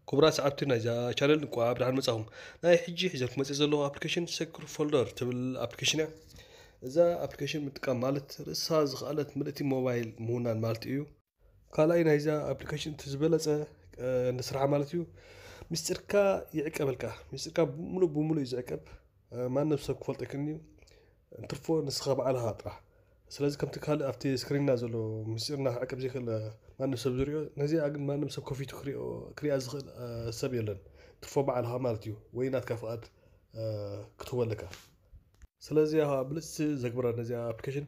ክቡራት ሰዓብቲ ናይዛ ቻነል፣ እንኳዕ ብደሓን መጻኹም። ናይ ሕጂ ሒዘልኩም መጽእ ዘለኹ ኣፕሊኬሽን ሰክር ፎልደር ትብል ኣፕሊኬሽን እያ። እዛ ኣፕሊኬሽን ምጥቃም ማለት ርእሳ ዝኸኣለት ምልእቲ ሞባይል ምውናን ማለት እዩ። ካልኣይ ናይዛ ኣፕሊኬሽን እቲ ዝበለጸ፣ እ፣ ንስራሕ ማለት እዩ፣ ምስጢርካ ይዕቀበልካ። ምስጢርካ ብምሉእ ብምሉእ እዩ ዝዕቀብ። እ፣ ማንም ሰብ ክፈልጦ ኣይክእልን እዩ። እንትርፎ ንስኻ ባዕልኻ ጥራሕ። ስለዚ ከምቲ ካልእ ኣብቲ ስክሪንና ዘሎ ምስጢርና ክዕቀብ ዘይክእል፣ እ፣ ማንም ሰብ ዝሪኦ፣ ነዚኣ ግን ማንም ሰብ ከፊቱ ክሪኦ፣ ክሪኣ ዝኽእል፣ እ፣ ሰብ የለን። እንትርፎ ባዕልኻ ማለት እዩ። ወይ ናትካ ፍቓድ፣ እ፣ ክትህቦ ኣለካ። ስለዚ፣ ኣሃ፣ ብልጽቲ ዘግብራ ነዚኣ ኣፕሊኬሽን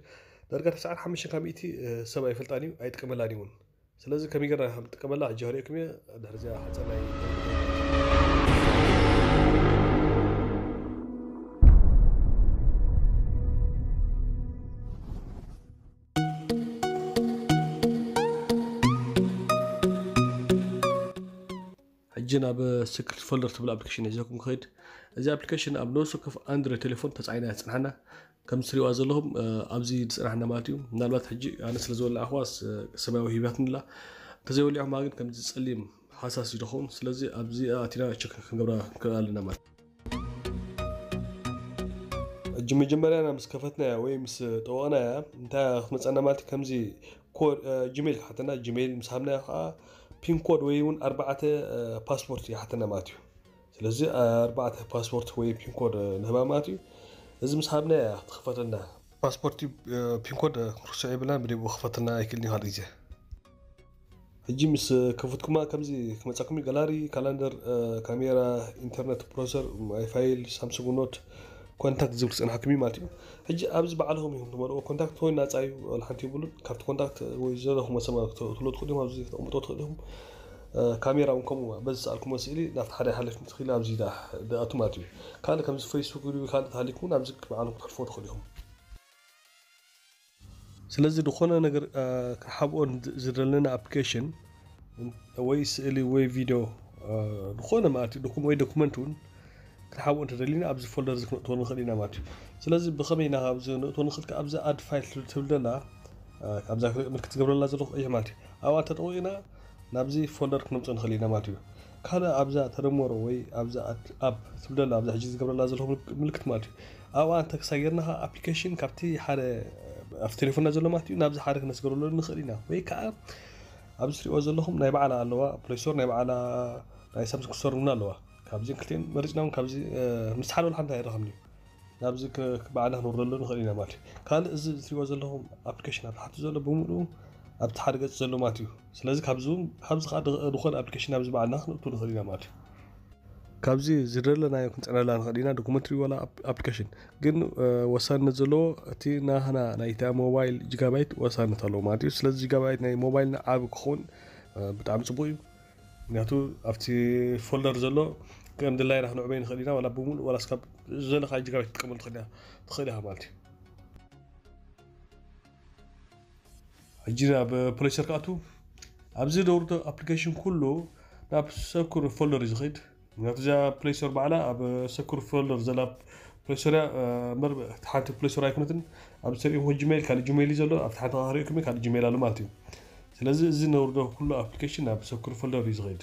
ዳርጋ ተስዓን ሓሙሽተን ካብ ሚእቲ፣ እ፣ ሰብ ኣይፈልጣን እዩ፣ ኣይጥቀመላን እዩ እውን። ስለዚ ከመይ ጌርና ከም ንጥቀመላ ሕጂ ከርእየኩም እየ። ድሕሪ እዚኣ ሓጸር ናይ ሕጂ ናብ ስክሪፕት ፎልደር ትብል ኣፕሊኬሽን ሒዘኩም ክኸይድ። እዚ ኣፕሊኬሽን ኣብ ነፍሲ ወከፍ ኣንድሮይድ ቴሌፎን ተጻዒና እያ ትጽንሓና። ከም ትሪእዋ ዘለኹም፣ እ፣ ኣብዚ ዝጽንሓና ማለት እዩ። ምናልባት ሕጂ ኣነ ስለ ዝወላዕኹዋስ፣ እ፣ ሰማያዊ ሂባትኒ ኣላ። እንተዘይወሊዕኹማ ግን ከምዚ ጸሊም ሃሳስ እዩ ዝኸውን። ስለዚ ኣብዚ ኣቲና ቸክ ክንገብራ ንክእል ኣለና ማለት እዩ። ሕጂ መጀመርያና ምስ ከፈትናያ ወይ ምስ ጠወቕናያ እንታይ ክትመጸና ማለት እዩ? ከምዚ ኮድ፣ እ፣ ጂሜል ክሓተና፣ ጂሜል ምስ ሃብናዮ ከዓ ፒን ኮድ ወይ እውን ኣርባዕተ፣ እ፣ ፓስፖርት ይሓተና ማለት እዩ። ስለዚ ኣርባዕተ ፓስፖርት ወይ ፒን ኮድ፣ እ፣ ንህባ ማለት እዩ። እዚ ምስ ሃብናያ እያ ትኽፈተልና። ፓስፖርት፣ እ፣ ፒን ኮድ፣ እ፣ ርስዑ የብልና፣ ብደይቡ ክኽፈተልና ኣይክእልን እዩ ካልእ ግዜ። ሕጂ ምስ ከፈትኩማ ከምዚ ክመጻኩም እዩ። ጋላሪ፣ ካላንደር፣ እ፣ ካሜራ፣ ኢንተርነት፣ ብሮዘር፣ ማይ ፋይል፣ ሳምሱንግ ኖት፣ ኮንታክት ዝብል ክጸንሓኩም እዩ ማለት እዩ። ሕጂ ኣብዚ ባዕልኹም ኢኹም ትመርዎ። ኮንታክት ወይ ናጻ እዩ፣ ዋላ ሓንቲ የብሉን። ካብቲ ኮንታክት ወይ ዘለኹም መሰማ ክተ-፣ ክትወልዱ ትኽእሉ ኢኹም፣ ኣብዚ ክተቕምጦ ትኽእሉ ኢኹም። እ፣ ካሜራ እውን ከምኡ፣ በዚ ዝሰኣልኩሞ ስእሊ ናብቲ ሓደ ይሓልፍ ትኽእል፣ ኣብዚ ደኣ፣ ደኣቱ ማለት እዩ። ካልእ ከምዚ ፌስቡክ ድዩ ካልእ ተሃሊኩም እውን ኣብዚ ባዕልኹም ክትሕልፎ ትኽእሉ ኢኹም። ስለዚ ዝኾነ ነገር፣ እ፣ ክንሓብኦ ን-፣ ዝደለና ኣፕሊኬሽን ወይ ስእሊ ወይ ቪድዮ፣ እ፣ ዝኾነ ማለት እዩ፣ ዶኩም-፣ ወይ ዶኩመንት እውን ክንሓብኦ እንተደሊና ኣብዚ ፎልደር እዚ ክነእትዎ ንኽእል ኢና ማለት እዩ። ስለዚ ብኸመይ ኢና ኣብዚ ነእትዎ ንኽእል? ኣብዛ ኣድ ፋይል ትብል ዘላ፣ እ፣ ኣብዛ ምልክት ዝገብረላ ዘለኹ ቀይሕ ማለት እዩ። ኣብኣ እንተጠቂቕና ናብዚ ፎልደር ክነምፅኦ ንኽእል ኢና ማለት እዩ። ካልእ ኣብዛ ተደመሮ ወይ ኣብዛ ኣድ-፣ ኣፕ ትብል ዘላ ኣብዛ ሕጂ ዝገብረላ ዘለኹ ምልክ-፣ ምልክት ማለት እዩ። ኣብኣ እንተ ክሳብ ጌርና ከዓ ኣፕሊኬሽን ካብቲ ሓደ ኣብቲ ቴሌፎንና ዘሎ ማለት እዩ ናብዚ ሓደ ክነስገረሉ ንኽእል ኢና። ወይ ከዓ ኣብዚ ትሪእዎ ዘለኹም ናይ ባዕላ ኣለዋ፣ ፕሌይ ስቶር ናይ ባዕላ ናይ ሳምሰንግ ስቶር እውን ኣለዋ። ካብዚን ክልቲኤን መሪፅና እውን ካብዚ፣ እ፣ ምስ ሓደ ወላ ሓንቲ ኣይረኸብን እዩ። ናብዚ ክ-፣ ባዕልና ክነውርደሉ ንኽእል ኢና ማለት እዩ። ካልእ እዚ ትሪእዎ ዘለኹም ኣፕሊኬሽን ኣብ ታሕቲ ዘሎ ብምሉኡ ኣብቲ ሓደ ገፅ ዘሎ ማለት እዩ። ስለዚ ካብዚ እውን፣ ካብዚ ከዓ ድ-፣ ዝኾነ ኣፕሊኬሽን ናብዚ ባዕልና ክነእቱ ንኽእል ኢና ማለት እዩ። ካብዚ ዝደለናዮ ክንፅዕነላ ንኽእል ኢና፣ ዶኩመንትሪ ዋላ ኣፕ-፣ ኣፕሊኬሽን። ግን፣ እ፣ ወሳንነት ዘለዎ እቲ ናህና ናይታ ሞባይል ጂጋባይት ወሳንነት ኣለዎ ማለት እዩ። ስለዚ ጂጋባይት ናይ ሞባይልና ዓቢ ክኸውን፣ እ፣ ብጣዕሚ ፅቡቅ እዩ። ምክንያቱ ኣብቲ ፎልደር ዘሎ ከም ድላይና ክንዕበይ ንኽእል ኢና፣ ዋላ ብምሉእ ዋላ እስካብ ዝደለኻ ጂጋባይት ትጥቀመሉ ትኽእል ኢኻ፣ ትኽእል ኢኻ ማለት እዩ። ሕጂ ናብ ፕሌይ ስቶር ክኣቱ፣ ኣብዚ ደውርዶ ኣፕሊኬሽን ኩሉ ናብ ሰኩር ፎልደር እዩ ዝኸይድ። ምክንያቱ እዚኣ ፕሌይ ስቶር ባዕላ ኣብ ሰኩር ፎልደር ዘላ ፕሌይ ስቶር እያ፣ እ፣ እምበር ሓንቲ ፕሌይ ስቶር ኣይኮነትን። ኣብ ዝተሪእኹም ጂሜል፣ ካልእ ጂሜል እዩ ዘሎ፣ ኣብቲ ሓንቲ ክሪእኩም ካልእ ጂሜል ኣሎ ማለት እዩ። ስለዚ እዚ ነውርዶ ኩሉ ኣፕሊኬሽን ናብ ሰኩር ፎልደር እዩ ዝኸይድ።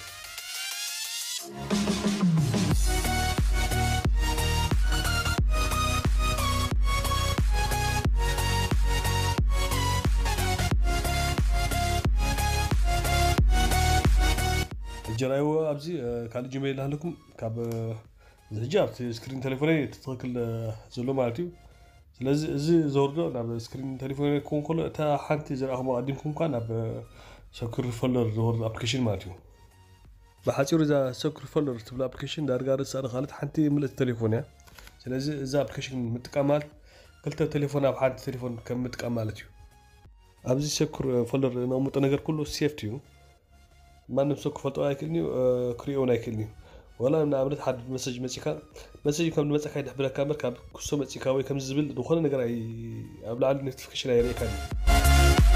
ሕጂ ራይዎ ኣብዚ፣ እ፣ ካልእ ጂሜል ኣለኩም ካብ፣ እ፣ እዚ ሕጂ ኣብቲ ስክሪን ቴሌፎነይ እቲ ትኽክል፣ እ፣ ዘሎ ማለት እዩ። ስለዚ እዚ ዘውርዶ ናብ ስክሪን ቴሌፎነይ ክኸውን ከሎ እታ ሓንቲ ዝረኣኹም ኣቐዲምኩም ከኣ ናብ፣ እ፣ ሰኩር ፎልደር ዘወርድ ኣፕሊኬሽን ማለት እዩ። ብሓጺሩ እዛ ሰኩር ፎልደር ትብል ኣፕሊኬሽን ዳርጋ ርእሳ ንኻልት ሓንቲ ምልእቲ ቴሌፎን እያ። ስለዚ እዛ ኣፕሊኬሽን ምጥቃም ማለት ክልተ ቴሌፎን ኣብ ሓንቲ ቴሌፎን ከም ምጥቃም ማለት እዩ። ኣብዚ ሰኩር ፎልደር ነቕምጦ ነገር ኩሉ ሴፍቲ እዩ። ማንም ሰብ ክፈልጦ ኣይክእልን እዩ፣ እ፣ ክሪኦ እውን ኣይክእልን እዩ። ወላ ንኣብነት ሓደ መሰጅ መጺካ፣ መሰጅ ከም ዝመጸካ ይድሕብረካ እምበር ካብ ክሶ መጺካ ወይ ከምዚ ዝብል ዝኾነ ነገር ኣይ-፣ ኣብ ላዕሊ ኖቲፊኬሽን ኣየርእየካን እዩ።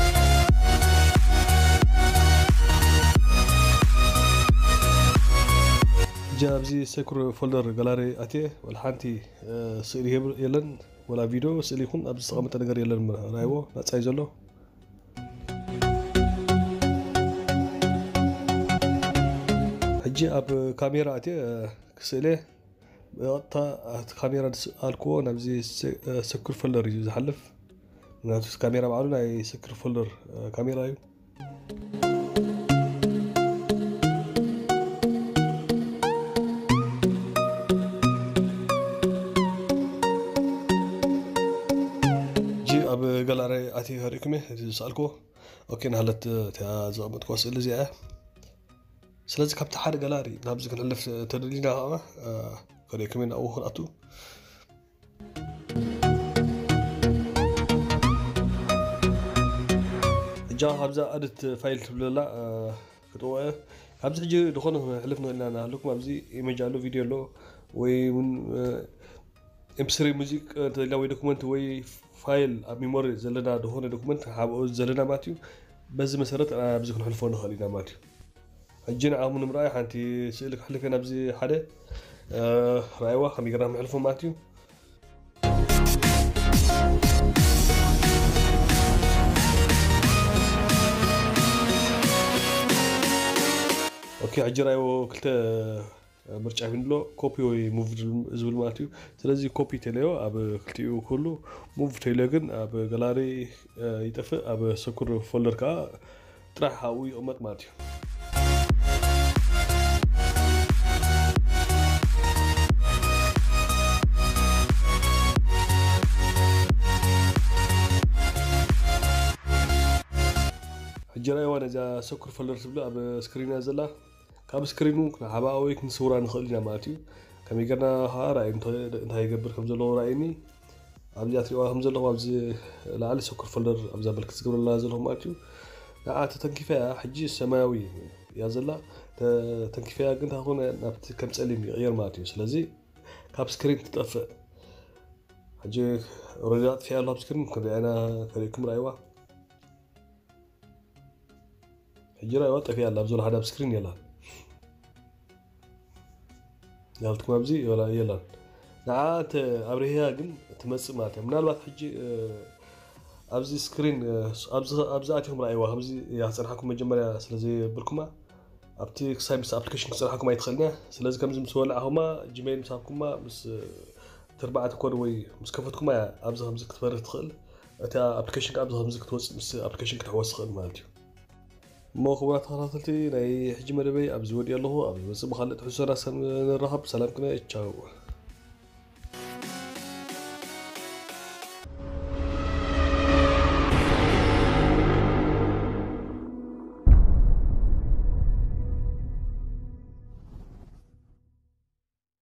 ሕጂ ኣብዚ ሰኩር ፎልደር ጋላሪ ኣትየ ወላ ሓንቲ፣ እ፣ ስእሊ የብ-፣ የለን፣ ወላ ቪድዮ ስእሊ ይኹን ኣብዚ ዝተቐመጠ ነገር የለን። ራይዎ ናጻ እዩ ዘሎ። ሕጂ ኣብ ካሜራ ኣትየ ክስእለ ብቐጥታ ኣብቲ ካሜራ ዝሰኣልክዎ ናብዚ ሰኩር ፎልደር እዩ ዝሓልፍ። ምክንያቱ ካሜራ ባዕሉ ናይ ሰኩር ፎልደር ካሜራ እዩ። ሕጂ ኣብ ጋላሪ ኣትየ ከርእይኩም እየ እቲ ዝሰኣልክዎ። ኦኬ፣ ናሃለት እቲኣ ዘቐመጥክዋ ስእሊ እዚኣ እያ። ስለዚ ካብቲ ሓደ ጋላሪ ናብዚ ክንሕልፍ ተደሊና ከዓ ከርእየኩም ኢና ኣብኡ ክንኣቱ። እጃ ካብዛ ኣድት ፋይል ትብለላ ክጥወ ካብዚ ሕጂ ዝኾነ ክንሕልፍ ንኽእል ኢና። ናሃለኩም ኣብዚ ኢሜጅ ኣሎ፣ ቪድዮ ኣሎ፣ ወይ እውን ኤምፕስሪ ሙዚቅ እንተደልና ወይ ዶኩመንት ወይ ፋይል ኣብ ሚሞሪ ዘለና ዝኾነ ዶኩመንት ሓብኦ ዘለና ማለት እዩ። በዚ መሰረት ኣብዚ ክንሕልፎ ንኽእል ኢና ማለት እዩ። ሕጂ ንዓኹም ንምርኣይ ሓንቲ ስእሊ ክሕልፍ እየ ናብዚ ሓደ ረኣይዋ ከመይ ጌርና ምሕልፎ ማለት እዩ። ኦኬ፣ ሕጂ ረኣይዎ ክልተ ምርጫ ሂብኒ ኣሎ፣ ኮፒ ወይ ሙቭ ዝብል ማለት እዩ። ስለዚ ኮፒ ተለዮ ኣብ ክልቲኡ ክህሉ፣ ሙቭ ተለዮ ግን ኣብ ጋላሪ ይጠፍእ፣ ኣብ ሰኩር ፎልደር ከዓ ጥራሕ ኣብኡ ይቕመጥ ማለት እዩ። ሕጂ ራእይዋ ነዚኣ ሰኩር ፎልደር ትብል ኣብ ስክሪን እያ ዘላ። ካብ ስክሪኑ ክንሓብኣ ወይ ክንስውራ ንኽእል ኢና ማለት እዩ። ከመይ ጌርና ከዓ ራእይ እንታይ ይገብር ከም ዘለዎ ራእይኒ። ኣብዚኣ ትሪእዋ ከም ዘለኹም ኣብዚ ላዕሊ ሰኩር ፎልደር ኣብዛ ምልክት ዝገብረላ ዘለኹም ማለት እዩ። ንዓ ተተንኪፈያ ሕጂ ሰማያዊ እያ ዘላ። ተተንኪፈያ ግን ታኾነ ናብቲ ከም ጸሊም ይቕየር ማለት እዩ። ስለዚ ካብ ስክሪን ትጠፍእ። ሕጂ ኦረዲ ኣጥፊኣ ኣሎ ኣብ ስክሪን ክንሪኣና ከሪእኩም ራእይዋ። ሕጂ ራእይዋ ጠፊኣ ኣላ። ኣብ ዘሎ ሓደ ኣብ ስክሪን የላን። ናብትኩም ኣብዚ የላን። ንዓ እንተ ኣብርህያ ግን ትመጽእ ማለት እያ። ምናልባት ሕጂ ኣብዚ ስክሪን ኣብዚ ኣቲኹም ራእይዋ ከምዚ እያ ክጸንሓኩም መጀመርያ ስለ ዘየብልኩማ ኣብቲ ክሳይ ምስ ኣፕሊኬሽን ክጸንሓኩም ኣይትኽእልን እያ። ስለዚ ከምዚ ምስ ወላዕኹማ ጂሜይል ምስ ሃብኩማ ምስ ተርባዕተ ኮድ ወይ ምስ ከፈትኩማ እያ ኣብዚ ከምዚ ክትበርህ ትኽእል። እታ ኣፕሊኬሽን ኣብዚ ከምዚ ክትወጽእ ምስ ኣፕሊኬሽን ክትሕወስ ትኽእል ማለት እዩ። እሞ ክቡራት ተኸታተልቲ ናይ ሕጂ መደበይ ኣብዚ ወዲእ ኣለኹ። ኣብ ዝመጽእ ብኻልእ ትሕዝቶና ሰብ ንራኸብ። ሰላም ቅነ። ቻው።